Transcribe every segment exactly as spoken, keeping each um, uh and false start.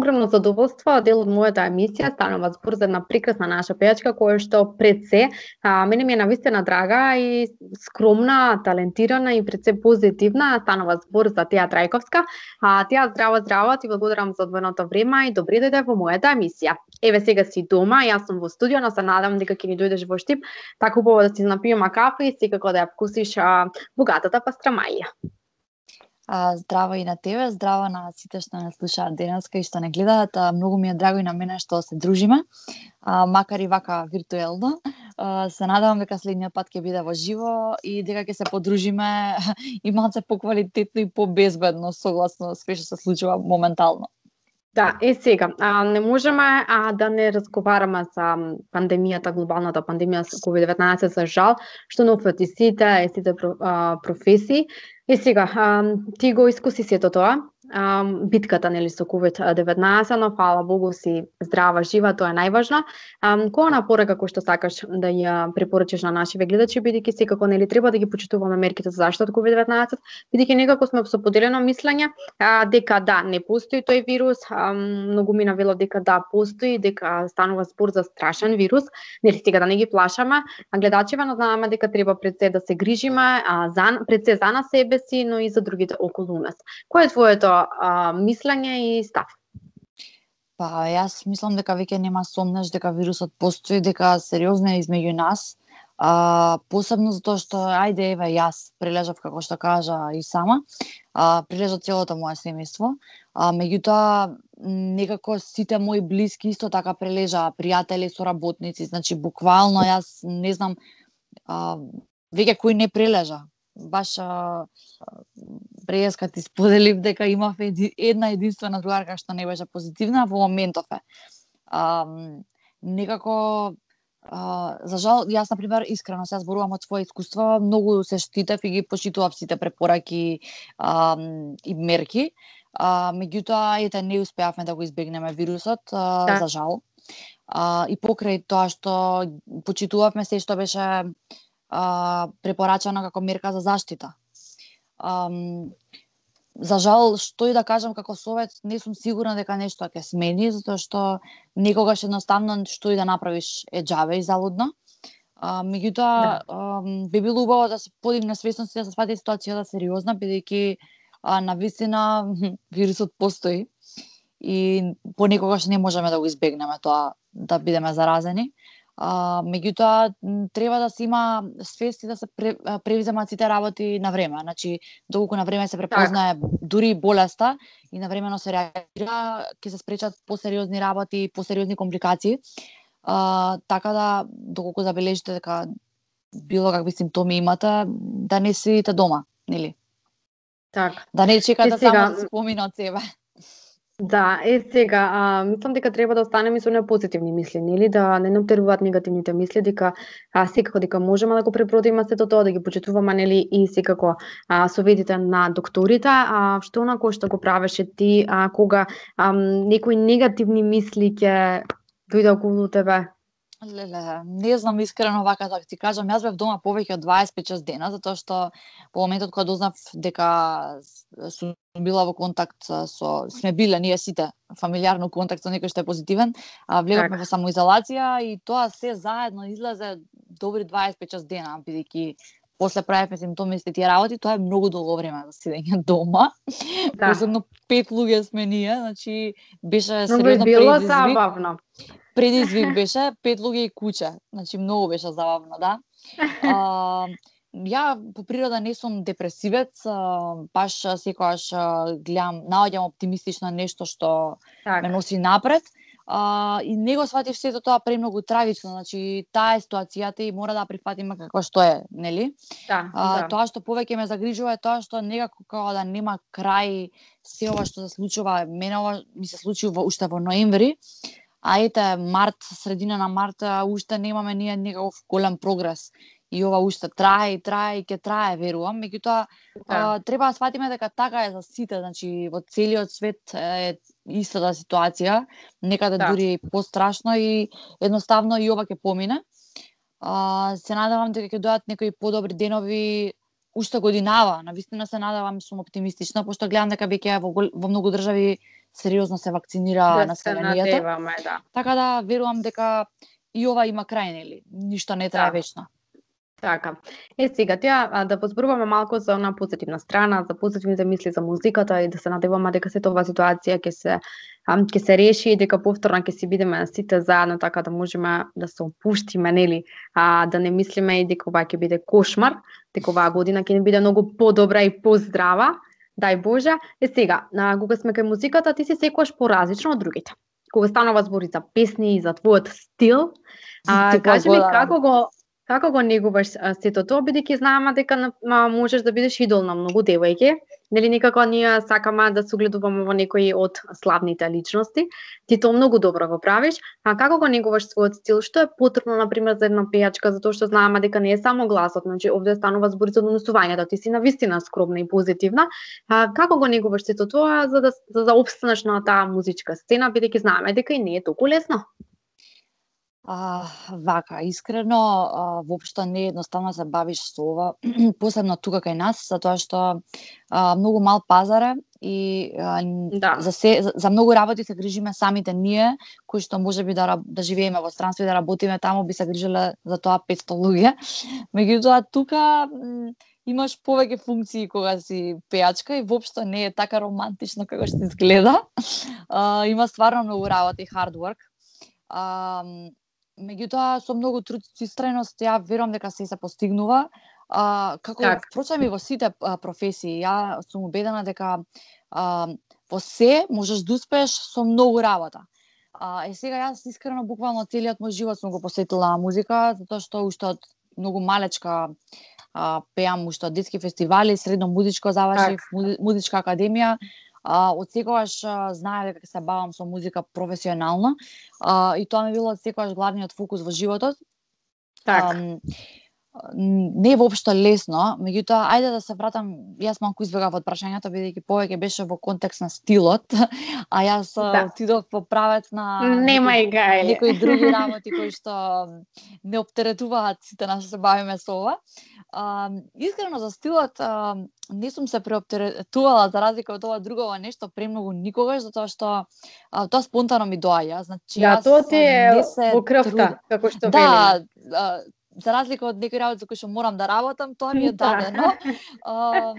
огромно задоволство, дел од мојата емисија станува збор за една прекрасна наша пејачка која што пред се а, мене ми е навистина драга и скромна, талентирана и пред се позитивна. Станува збор за Теја Трајковска. А, Теја, здраво, здраво, ти благодарам за одвоеното време и добре дојде во мојата емисија. Еве сега си дома, јас сум во студио, но се надам дека ќе ни дојдеш во Штип, така убаво да си напиеме кафе и секако да ја вкусиш а, богатата пастрамаја. А, здраво и на тебе, здраво на сите што не слушаат денеска и што не гледаат. А, многу ми е драго и на мене што се дружиме, а, макар и вака виртуелно. А, се надевам дека следниот пат ќе биде во живо и дека ќе се подружиме и малце поквалитетно и побезбедно, согласно све што се случува моментално. Да, е сега, а, не можеме а, да не разговараме за пандемијата, глобалната пандемија со ковид деветнаесет, за жал, што не опфати сите, сите а, професии. Е сега, а, ти го искуси сето тоа, а, битката нели со ковид деветнаесет, но фала Богу си здрава, жива, тоа е најважно. А, која напорека кој што сакаш да ја препорачиш на нашите гледачи, бидејќи секако нели треба да ги почитуваме мерките за заштита од ковид деветнаесет, бидејќи некако сме со поделено мислење а, дека да, не постои тој вирус, а, многу мина велат дека да постои, дека станува збор за страшен вирус, нели сега да не ги плашаме, а гледачите но знаеме дека треба пред се да се грижиме, а, за, пред се за на себе си, но и за другите околу нас. Кој е твоето а, мислење и став? Па, јас мислам дека веќе нема сомнеш дека вирусот постои, дека сериозно е измеѓу нас. А, посебно затоа што, ајде, еве, јас прележав, како што кажа и сама, а, прележа целото моје семејство, а, меѓутоа, некако сите мои блиски исто така прележа, пријатели, соработници, значи, буквално, јас не знам, а, веќе кој не прележа. Баш а, преска ти споделив дека имав една единствена другарка што не беше позитивна, во моментов е. А, некако, а, за жал, јас, например, искрено се зборувам од своје искуство, многу се штитев и ги почитував сите препораки а, и мерки, а, меѓутоа, ете, не успеавме да го избегнеме вирусот, а, да. За жал. А, и покрај тоа што почитувавме се што беше а, препорачано како мерка за заштита. А, за жал, што и да кажам како совет, не сум сигурна дека нешто ќе смени, затоа што некогаш едноставно што и да направиш е џабе и залудно. А, меѓутоа, да. Би било убаво да се подигне свесност и да се свати ситуацијата сериозна, бидејќи навистина вирусот постои и понекогаш не можеме да го избегнеме тоа да бидеме заразени. А, меѓутоа, треба да се има свест и да се превземат сите работи на време. Значи, доколку на време се препознае так. Дури болеста и на времено се реагира, ќе се спречат посериозни работи, посериозни компликации. А, така да, доколку забележите дека било какви симптоми имате, да не седите дома, нели? Так. Да не чекате сега... само да се помине од себе. Да, е сега, а, мислам дека треба да останеме со позитивни мисли, нели, да не нам теруваат негативните мисли, дека а, секако дека можеме да го пребродиме сето тоа, да ги почитуваме, нели, и секако а, советите на докторите, а што онако што го правеше ти, а, кога а, некои негативни мисли ќе дојде околу тебе? Леле, не знам искрено вака да ти кажам, јас бев дома повеќе од дваесет и пет дена, затоа што по моментот кога дознав дека сум била во контакт со, сме биле ние сите фамилиарно контакт со некој што е позитивен, а влеговме во самоизолација и тоа се заедно излезе добри дваесет и пет дена, бидејќи после правевме симптоми и тие работи, тоа е многу долго време за седење дома. Да. Посебно пет луѓе сме ние, значи беше сериозно било забавно. Предизвик беше, пет луѓе и куче. Значи, многу беше забавно, да. А, ја, по природа, не сум депресивец, а, баш секојаш гледам, наоѓам оптимистично нешто што так. Ме носи напред. А, и не го сватив сето тоа премногу трагично, значи, таа е ситуацијата и мора да прифатиме како што е, нели? Да, а, да. Тоа што повеќе ме загрижува е тоа што некако како да нема крај се ова што се случува. Мене ова ми се случи во, уште во ноември, а ете, март, средина на март, уште немаме ние некаков голем прогрес. И ова уште трае и трае и ќе трае, верувам. Меѓутоа, да. Треба да сватиме дека така е за сите, значи во целиот свет е истата ситуација, некаде да. Дури пострашно и едноставно и ова ќе помине. А, се надевам дека ќе дојдат некои подобри денови уште годинава, навистина се надевам, сум оптимистична, пошто гледам дека веќе во, во многу држави сериозно се вакцинира Да се населението. надеваме, да. Така да верувам дека и ова има крај, нели? Ништо не трае Да. вечно. Така. Е, сега тя а, да позборуваме малку за она позитивна страна, за позитивните мисли за музиката и да се надеваме дека сета оваа ситуација ќе се а, ќе се реши и дека повторно ќе си бидеме сите заедно, така да можеме да се опуштиме, нели, а да не мислиме и дека ова ќе биде кошмар, дека оваа година ќе ни биде многу подобра и поздрава. Дај Боже. Е, сега, а, кога сме кај музиката, ти си секогаш поразлична од другите. Кога станува збори за песни и за твојот стил, а, кажи ми како го Како го негуваш сето тоа, бидејќи знаеме дека на, можеш да бидеш идол на многу девојки, нели некако ние сакаме да се огледуваме во некои од славните личности. Ти тоа многу добро го правиш, а како го негуваш својот стил? Што е потребно на пример за една пејачка, затоа што знаеме дека не е само гласот, значи овде станува збори за однесувањето, ти си навистина скромна и позитивна. А како го негуваш сето тоа за да за да опстанеш на таа музичка сцена, бидејќи знаеме дека и не е толку лесно? А, вака, искрено, а, воопшто не е едноставно се бавиш со ова, посебно тука кај нас, затоа што а, многу мал пазар е и а, Да. за, се, за, за многу работи се грижиме самите ние, кои што можеби да, да живееме во странство и да работиме таму, би се грижеле за тоа петсто луѓе. Меѓутоа, тука м, имаш повеќе функции кога си пејачка и воопшто не е така романтично како што изгледа. А, има стварно многу работа и hard work. А, Меѓутоа, со многу труд и истреност, ја верувам дека се се постигнува. А, како Так. впрочем и во сите а, професии, ја сум убедена дека а, во се можеш да успееш со многу работа. А, е сега јас искрено буквално целиот мој живот сум го посветила на музика, затоа што уште од многу малечка а, пеам уште од детски фестивали, средно музичко завршив, Так. музичка академија. А, од секогаш а, знае дека се бавам со музика професионално а, и тоа ми било од секогаш главниот фокус во животот. Так. А, не е воопшто лесно, меѓутоа, ајде да се вратам, јас малку избегав од прашањето, бидејќи повеќе беше во контекст на стилот, а јас Да. отидов по правец на Немај гајле. некои други работи кои што не оптеретуваат сите нас се бавиме со ова. А, искрено за стилот а, не сум се преоптеретувала за разлика од ова друго нешто премногу никогаш, затоа што а, тоа спонтано ми доаѓа. Значи Да, јас тоа ти е не се во крвта, труд... како што да, велиме. а, за разлика од некои работи за кои што морам да работам, тоа ми е Да. дадено. А,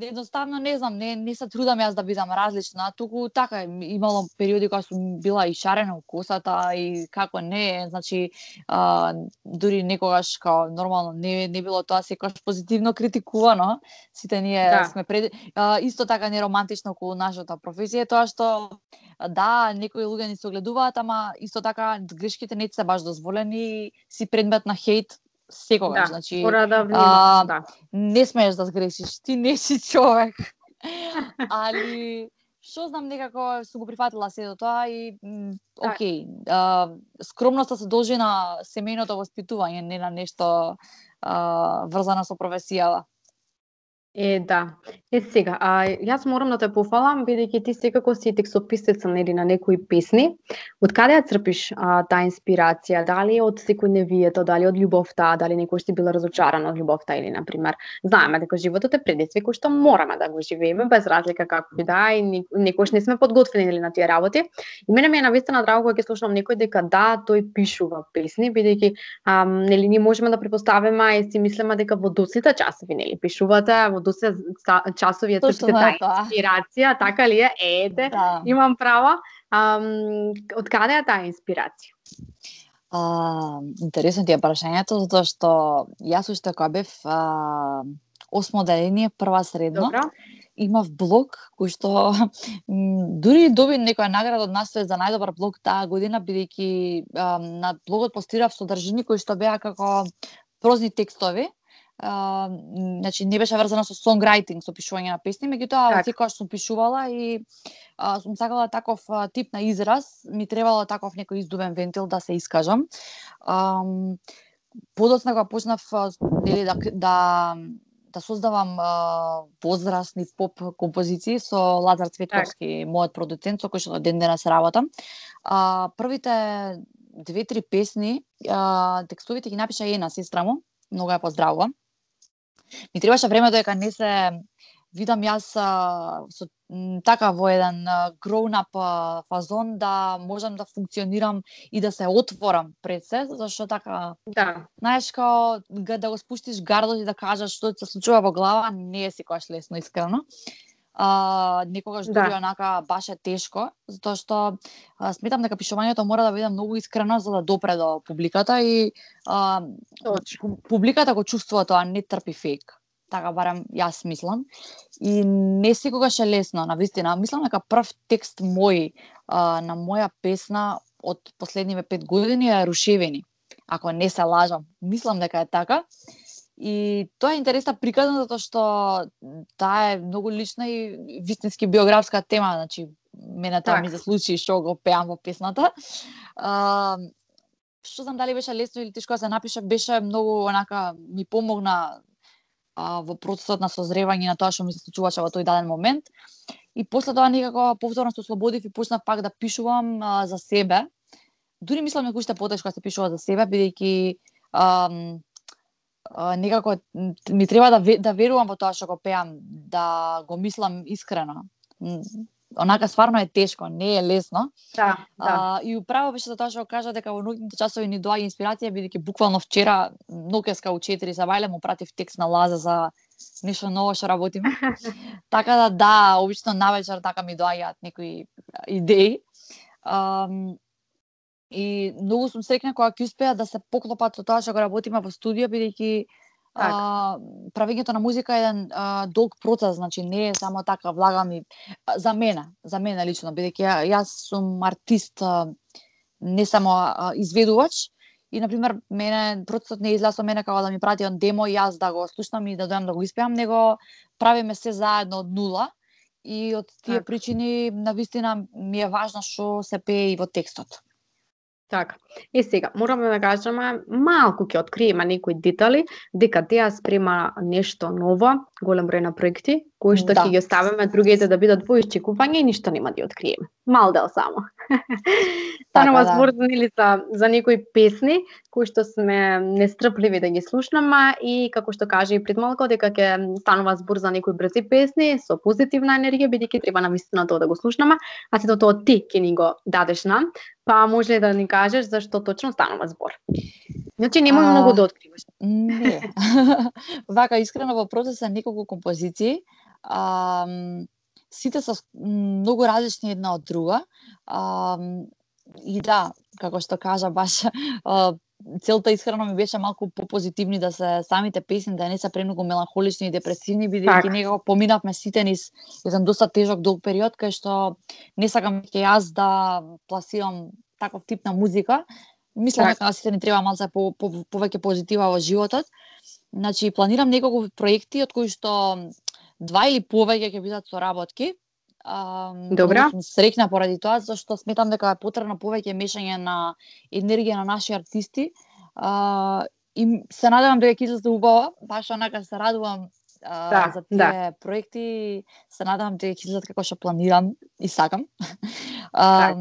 едноставно не знам, не не се трудам јас да бидам различна, туку така имало периоди кога сум била и шарена у косата и како не, значи а, дури некогаш као нормално не не било тоа секогаш позитивно критикувано. Сите ние Да. сме пред а, исто така неромантично околу нашата професија, тоа што да, некои луѓе ни се огледуваат, ама исто така грешките не се баш дозволени и си предмет на хејт секогаш, Да, значи мора да внимаваш, а, да. не смееш да сгрешиш, ти не си човек. Али што знам, некако сум го прифатила сето тоа и м, Так. окей, а, скромноста се должи на семејното воспитување, не на нешто а, врзано со професијава. Е, да. Е, сега, а, јас морам да те пофалам, бидејќи ти секако си текстописеца, нели, на некои песни. Од каде ја црпиш а, таа инспирација? Дали е од секојдневието, дали од љубовта, дали некој си била разочарана од љубовта или, на пример, знаеме дека животот е предизвик кој што мораме да го живееме, без разлика како и да, и некојаш не сме подготвени нели, на тие работи. И мене ми е навистина драго кога ќе слушам некој дека да, тој пишува песни, бидејќи а, нели, ние можеме да препоставиме и си мислиме дека во доцните часови, нели, пишувате, во доста часови ја Точно црпите таа е тоа. инспирација, така ли е? Ете, Да. имам право. Ам, од каде е таа инспирација? А, интересно ти е прашањето, затоа што јас уште кога бев а, осмо одделение, прва средно, Добро. имав блог кој што м, дури доби некоја награда од настој за најдобар блог таа година, бидејќи а, на блогот постирав содржини кои што беа како прозни текстови. Uh, значи не беше врзано со songwriting, со пишување на песни, меѓутоа од секогаш сум пишувала и uh, сум сакала таков uh, тип на израз, ми требало таков некој издувен вентил да се искажам. Um, подоцна кога почнав нели да да да создавам uh, возрастни поп композиции со Лазар Цветковски, мојот продуцент со кој што ден денес работам. Uh, првите две-три песни, uh, текстовите ги напиша една сестра му, многу ја поздравувам. Ми требаше време додека не се видам јас а, со така во еден grown up а, фазон да можам да функционирам и да се отворам пред се, зашто така, Да. знаеш, као да го спуштиш гардот и да кажеш што се случува во глава, не е секогаш лесно, искрено. А, некогаш дури Да. онака баш е тешко, затоа што а, сметам дека пишувањето мора да биде многу искрено за да допре до публиката и а, публиката го чувствува тоа, не трпи фейк. Така барем јас мислам. И не секогаш е лесно, навистина. Мислам дека прв текст мој а, на моја песна од последниве пет години е Рушевени. Ако не се лажам, мислам дека е така. И тоа е интересна приказна затоа што таа е многу лична и вистински биографска тема, значи мене тоа Так. ми се случи што го пеам во песната. А, што знам дали беше лесно или тешко да се напише, беше многу онака ми помогна а, во процесот на созревање на тоа што ми се случуваше во тој даден момент. И после тоа некако повторно се ослободив и почнав пак да пишувам а, за себе. Дури мислам дека уште потешко да се пишува за себе, бидејќи а, а, некако ми треба да да верувам во тоа што го пеам, да го мислам искрено. Онака стварно е тешко, не е лесно. Да, да. А, и управо беше за тоа што кажа дека во ноќните часови ни доаѓа инспирација, бидејќи буквално вчера ноќеска у четири за вајле му пратив текст на Лаза за нешто ново што работиме. Така да да, обично навечер така ми доаѓаат некои идеи. А, и многу сум среќна кога ќе успеа да се поклопат со тоа што го работиме во студио, бидејќи А, правењето на музика е еден а, долг процес, значи не е само така влагам и а, за мене, за мене лично, бидејќи ја, јас сум артист, а, не само а, изведувач и на пример мене процесот не излеа со мене како да ми прати он демо и јас да го слушнам и да дојам да го испеам, него правиме се заедно од нула и од тие Так. причини навистина ми е важно што се пее и во текстот. Така. И сега, мораме да кажеме, малку ќе откриеме некои детали, дека теа спрема нешто ново, голем број на проекти, кои што Да. ќе ги оставиме другите да бидат во исчекување и ништо нема да ја откриеме. Мал дел само. Станува Така, да. збор нели за за некои песни кои што сме нестрпливи да ги слушнеме и како што кажа и пред малку дека ќе станува збор за некои брзи песни со позитивна енергија, бидејќи треба навистина тоа да го слушнеме, а сето тоа ти ќе ни го дадеш нам, па може ли да ни кажеш зашто точно станува збор? Значи немој А, многу да откриваш. Не. Вака, искрено во процес е неколку композиции. А, сите се многу различни една од друга. А, и да, како што кажа баш, а, целта искрено ми беше малку попозитивни да се самите песни, да не се премногу меланхолични и депресивни, бидејќи Так. некако поминавме сите низ еден доста тежок долг период кај што не сакам ќе јас да пласирам таков тип на музика. Мислам дека на сите ни треба малце по, по, повеќе позитива во животот. Значи, планирам неколку проекти, од кои што два или повеќе ќе бидат соработки. А, Добра. сум среќна поради тоа, зашто сметам дека е потребно повеќе мешање на енергија на наши артисти. А, и се надевам дека ќе излезе убаво, баш онака се радувам а, Да, за тие да. проекти, се надевам дека ќе излезат како што планирам и сакам. А,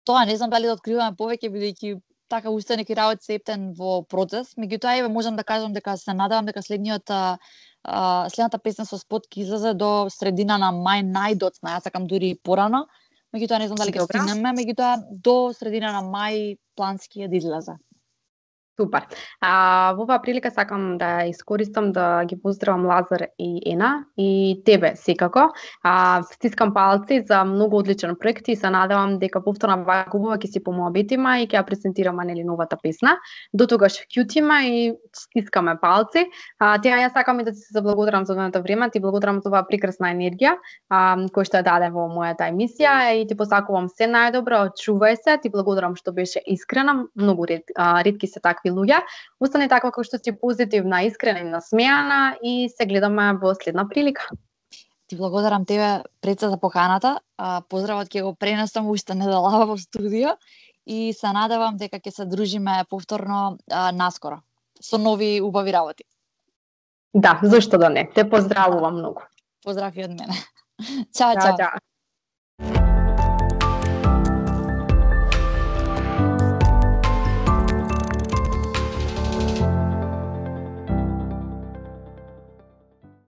Тоа не знам дали да откриваме повеќе, бидејќи така уште неки работи се ептен во процес. Меѓутоа, еве можам да кажам дека се надевам дека следниот а, следната песна со спот ќе излезе до средина на мај најдоцна. Јас сакам дури и порано. Меѓутоа не знам дали ќе стигнеме, меѓутоа до средина на мај плански е да излезе. Супер. А, во оваа прилика сакам да искористам да ги поздравам Лазар и Ена и тебе секако. А, стискам палци за многу одличен проект и се надевам дека повторно вака убава ќе си помоабитиме и ќе ја презентираме нели новата песна. До тогаш кјутиме и стискаме палци. А, теа јас сакам и да ти се заблагодарам за одвоеното време, ти благодарам за оваа прекрасна енергија а, која што ја даде во мојата емисија и ти посакувам се најдобро, очувај се, ти благодарам што беше искрена, многу ред, а, ретки се такви луѓе. Остани таква како што си позитивна, искрена и насмеана и се гледаме во следна прилика. Ти благодарам тебе Преца за поканата. Поздравот ќе го пренесам уште неделава во студио и се надевам дека ќе се дружиме повторно а, наскоро со нови убави работи. Да, зашто да не. Те поздравувам многу. Поздрав и од мене. Чао, Чао, чао. чао.